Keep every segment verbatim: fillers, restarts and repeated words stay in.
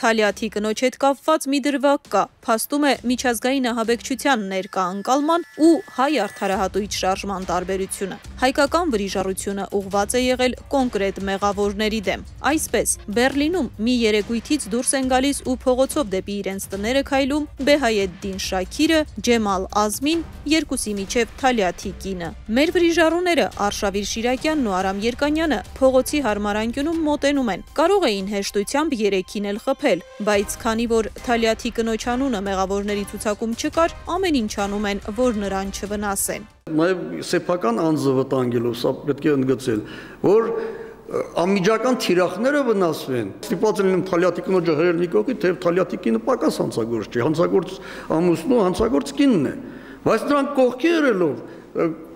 Թալյաթի կնոջ հետ կապված մի դրվագ կա, փաստում է միջազգային ահաբեկչության ներկա ընկալման ու հայ արդարահատույց շարժման տարբերությունը։ Հայկական վրիժառությունը ուղղված է եղել կոնկրետ մեղավորների դեմ։ Այսպես, Բեռլինում մի երեկույթից դուրս են գալիս ու փողոցով դեպի իրենց տները քայլում Բեհայեդդին Շաքիրը, Ջեմալ Ազմին, երկուսի միջև Թալյաթի կինը։ Մեր վրիժառուները Արշավիր Շիրակյանն ու Արամ Երկանյանը փողոցի հարմար անկյունում մոտենում են։ Կարող էին հեշտությամբ երեքին էլ խփել, բայց քանի որ Թալյաթի կնոջ անունը մեղավորների ցուցակում չկար, ամեն ինչ անում են, որ նրան չվնասեն։ Նաև սեփական անձը վտանգելով, սա պետք է ընդգծել, որ անմիջական թիրախները վնասվեն։ Ստիպված են Թալյաթի կնոջը հրել մի կողքի, թեև Թալյաթի կինը պակաս հանցագործ չի, հանցագործ ամուսնու հանցագործ կինն է, բայց նրանք կողքի հրելով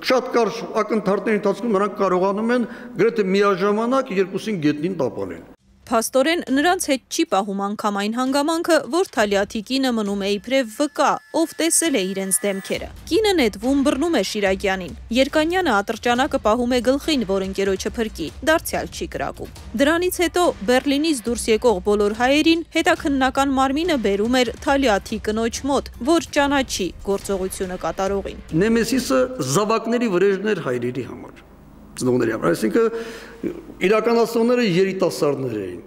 շատ կարճ ակնթարթների ընթացքում նրանք կարողանում են գրեթե միաժամանակ երկուսին գետնին տապալել։ Փաստորեն նրանց հետ չի պահում անգամ այն հանգամանքը, որ Թալյաթի կինը մնում է իբրև վկա, ով տեսել է իրենց դեմքերը։ Կինը նետվում բռնում է Շիրակյանին։ Երկանյանը ատրճանակը պահում է գլխին, որ ընկերոջը փրկի, դարձյալ չի կրակում։ Դրանից հետո Բեռլինից դուրս եկող բոլոր հայերին հետաքննական մարմինը բերում էր Թալյաթի կնոջ մոտ, որ ճանաչի գործողությունը կատարողին։ Նեմեսիսը զավակների վրեժներ հայրերի համար։ Ծնողների համար, այսինքն իրականացնողները երիտասարդներ էին։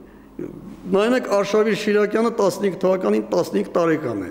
Նայեք Արշավիր Շիրակյանը տասնհինգ թվականին տասնհինգ տարեկան է։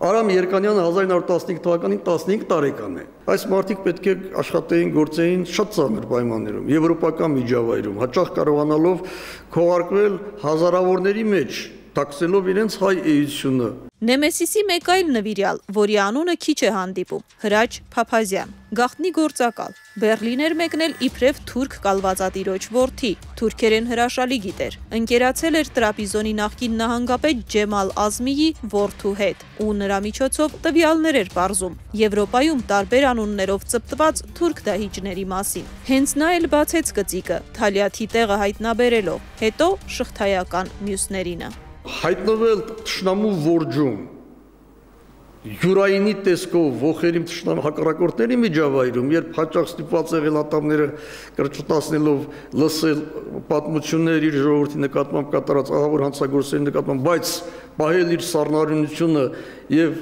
Արամ Երկանյանը հազար ինը հարյուր տասնհինգ թվականին տասնհինգ տարեկան է։ Այս մարդիկ պետք է աշխատեին, գործեին շատ ծանր պայմաններում, եվրոպական միջավայրում, հաճախ կարողանալով քողարկվել հազարավորների մեջ, տաքսելով իրենց հայ էությունը։ Նեմեսիսի մեկ այլ նվիրյալ, որի անունը քիչ է հանդիպում, Հրաչ Փափազյան, գաղտնի գործակալ, Բեռլին էր մեկնել իբրև թուրք կալվածատիրոջ որդի, թուրքերեն հրաշալի գիտեր, ընկերացել էր Տրապիզոնի նախկին նահանգապետ Ջեմալ Ազմիի որդու հետ ու նրա միջոցով տվյալներ էր պարզում Եվրոպայում տարբեր անուններով ծպտված թուրք դահիճների մասին։ Հենց նա էլ բացեց գծիկը, Թալյաթի տեղը հայտնաբերելով, հետո շղթայական մյուսներինը։ Հայտնվել թշնամու որջում, յուրայինի տեսքով ողերիմ թշնամու հակառակորդների միջավայրում, երբ հաճախ ստիպված եղել ատամները կրճտացնելով լսել պատմություններ իր ժողովրդի նկատմամբ կատարած ահավոր հանցագործների նկատմամբ, բայց պահել իր սառնարյունությունը եւ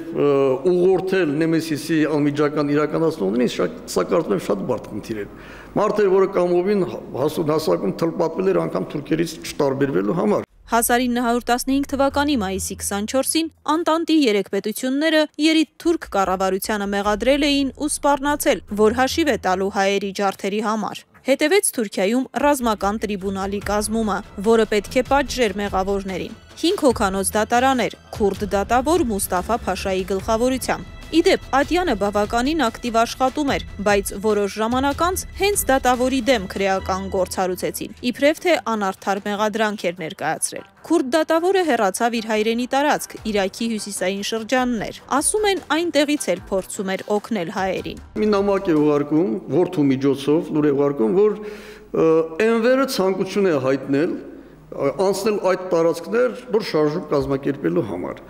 ուղղորդել Նեմեսիսի անմիջական իրականացնողներին, սա կարծում եմ շատ բարդ խնդիր է։ Մարդ էր, որը կամովին հասարակում թլպատվել էր անգամ թուրքերից չտարբերվելու համար։ հազար ինը հարյուր տասնհինգ թվականի մայիսի քսանչորսին Անտանտի երեք պետությունները երիտ թուրք կառավարությանը մեղադրել էին ու սպառնացել, որ հաշիվ է տալու հայերի ջարդերի համար։ Հետևեց Թուրքիայում ռազմական տրիբունալի կազմումը, որը պետք է պատժեր մեղավորներին։ Հինգ հոգանոց դատարան էր, քուրդ դատավոր Մուստաֆա Փաշայի գլխավորությամբ։ Իդեպ Ադյանը բավականին ակտիվ աշխատում էր, բայց որոշ ժամանակ անց հենց դատավորի դեմ քրեական գործ հարուցեցին, իբրև թե անարդար մեղադրանք էր ներկայացրել։ Քուրդ դատավորը հեռացավ իր հայրենի տարածք, Իրաքի հյուսիսային շրջաններ։ Ասում են այնտեղից էլ փորձում էր օգնել հայերին։ Մի նամակ է ուղարկում, որդու միջոցով լուր է ուղարկում, որ Էնվերը ցանկություն է հայտնել անցնել այդ տարածքներ, որ շարժում կազմակերպելու համար։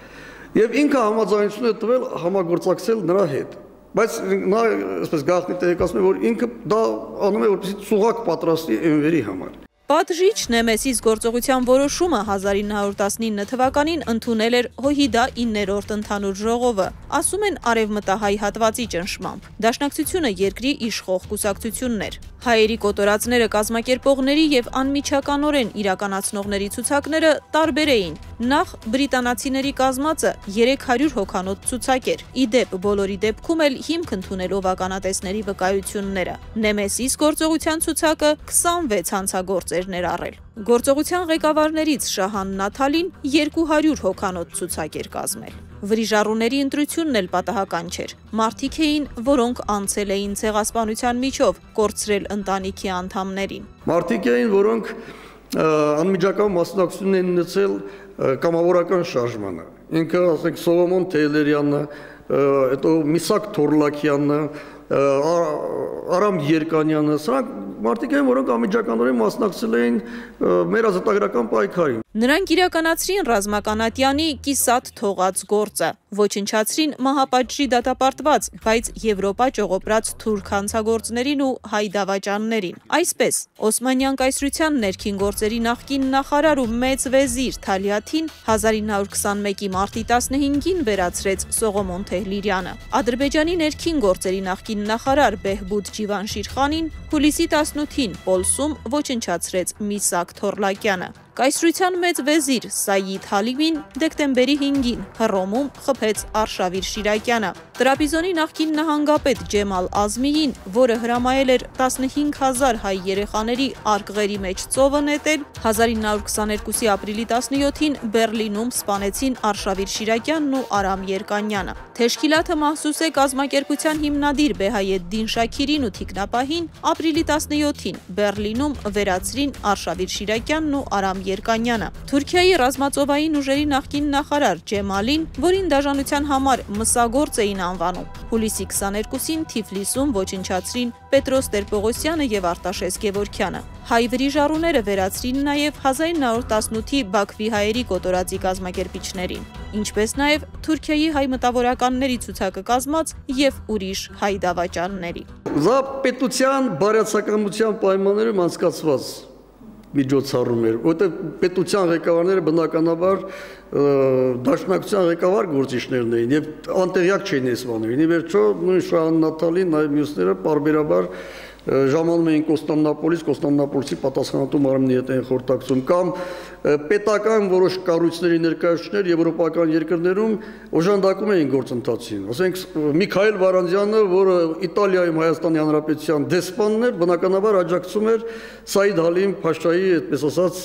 Եվ ինքը համաձայնություն է տվել համագործակցել նրա հետ։ Բայց նա այսպես գաղտնի տեղեկացնում է, որ ինքը դա անում է, որպեսզի ծուղակ պատրաստի Էնվերի համար։ Պատժիչ Նեմեսիս գործողության որոշումը հազար ինը հարյուր տասնինը թվականին ընդունել էր Հոհիդա իններորդ ընդհանուր ժողովը, ասում են արևմտահայ հատվածի ճնշմամբ։ Դաշնակցությունը երկրի իշխող կուսակցությունն էր։ Հայերի կոտորածները կազմակերպողների եւ անմիջականորեն իրականացնողների ցուցակները տարբեր էին։ Նախ բրիտանացիների կազմածը երեք հարյուր հոգանոց ցուցակ էր։ Իդեպ բոլորի դեպքում էլ հիմք ընդունելով ականատեսների վկայությունները։ Նեմեսիս գործողության ցուցակը քսանվեց հանցագործ էր ներառել։ Գործողության ղեկավարներից Շահան Նաթալին երկու հարյուր հոգանոց ցուցակ էր կազմել։ Վրիժառուների ընտրությունն էլ պատահական չէր։ Մարդիկ էին, որոնք անցել էին ցեղասպանության միջով, կորցրել ընտանիքի անդամներին։ Մարդիկ էին, որոնք անմիջական մասնակցություն են ունեցել կամավորական շարժմանը։ Ինքը, ասենք, Սողոմոն Թեյլերյանը, հետո Միսակ Թորլակյանը, Արամ Երկանյանը, սրանք մարդիկ են, որոնք անմիջականորեն մասնակցել էին մեր ազատագրական պայքարին։ Նրանք իրականացրին ռազմականատյանի կիսատ թողած գործը, ոչնչացրին մահապատժի դատապարտված, բայց Եվրոպա ճողոպրած թուրք հանցագործներին ու հայ դավաճաններին։ Այսպես, Օսմանյան կայսրության ներքին գործերի նախկին նախարար ու մեծ վեզիր Թալիաթին հազար ինը հարյուր քսանմեկի մարտի տասնհինգին վերացրեց Սողոմոն Թեհլիրյանը։ Ադրբեջանի ներքին գործերի նախկին նախարար Բեհբուդ Ջիվանշիրխանին հուլիսի տասնութին Պոլսում ոչնչացրեց Միսակ Թորլակյանը։ Կայսրության մեծ վեզիր Սայիդ Հալիմին դեկտեմբերի հինգին Հռոմում խփեց Արշավիր Շիրակյանը։ Տրապիզոնի նախկին նահանգապետ Ջեմալ Ազմիին, որը հրամայել էր տասնհինգ հազար հայ երեխաների արկղերի մեջ ծովը նետել, հազար ինը հարյուր քսաներկուսի ապրիլի տասնյոթին Բեռլինում սպանեցին Արշավիր Շիրակյանն ու Արամ Երկանյանը։ Թեշքիլաթը Մահսուսե կազմակերպության հիմնադիր Բեհայեդդին Շաքիրին ու թիկնապահին ապրիլի տասնյոթին Բեռլինում վերացրին Արշավիր Շիրակյանն ու Արամ Երկանյանը։ Թուրքիայի ռազմածովային ուժերի նախկին նախարար Ջեմալին, որին դաժանության համար մսագործ էին անվանում, հուլիսի քսաներկուսին Թիֆլիսում ոչնչացրին Պետրոս Տեր-Պողոսյանը եւ Արտաշես Գևորգյանը։ Հայ վրիժառուները վերացրին նաև հազար ինը հարյուր տասնութի Բաքվի հայերի կոտորածի կազմակերպիչներին, ինչպես նաև Թուրքիայի հայ մտավորականների ցուցակը կազմած եւ ուրիշ հայ դավաճանների։ Դա պետության բարյացակամության պայմաններում անցկացված միջոցառում էր, որտեղ պետության ղեկավարները բնականաբար դաշնակցության ղեկավար գործիչներն էին եւ անտեղյակ չէին այս բաներին։ Ի վերջո նույն Շահան Նաթալին, նաեւ մյուսները պարբերաբար ժամանում էին Կոստանդնապոլիս, Կոստանդնապոլսի պատասխանատու մարմնի հետ էին խորհրդակցում, կամ պետական որոշ կառույցների ներկայացուցիչներ եվրոպական երկրներում օժանդակում էին գործընթացին։ Ասենք Միքայել Վարանդյանը, որը Իտալիայում Հայաստանի Հանրապետության դեսպանն էր, բնականաբար աջակցում էր Սայիդ Հալիմ Փաշայի, այդպես ասած,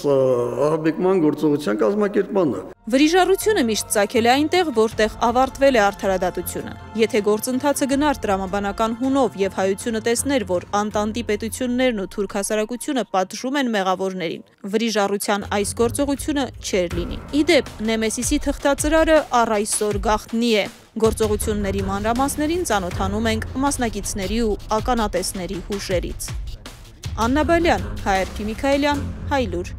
ահաբեկման գործողության կազմակերպմանը։ Վրիժառությունը միշտ ծագել է այնտեղ, որտեղ ավարտվել է արդարադատությունը։ Եթե գործընթացը գնար տրամաբանական հունով եւ հայությունը տեսներ, որ Անտանտի պետություններն ու թուրք հասարակությունը պատժում են մեղավորներին, վրիժառության այս գործողությունը չէր լինի։ Իդեպ, Նեմեսիսի թղթածրարը առ այսօր գաղտնի է։ Գործողությունների մանրամասներին ծանոթանում ենք մասնակիցների ու ականատեսների հուշերից։ Աննա Բալյան, Հայ Արփի Միքայելյան, Հայլուր։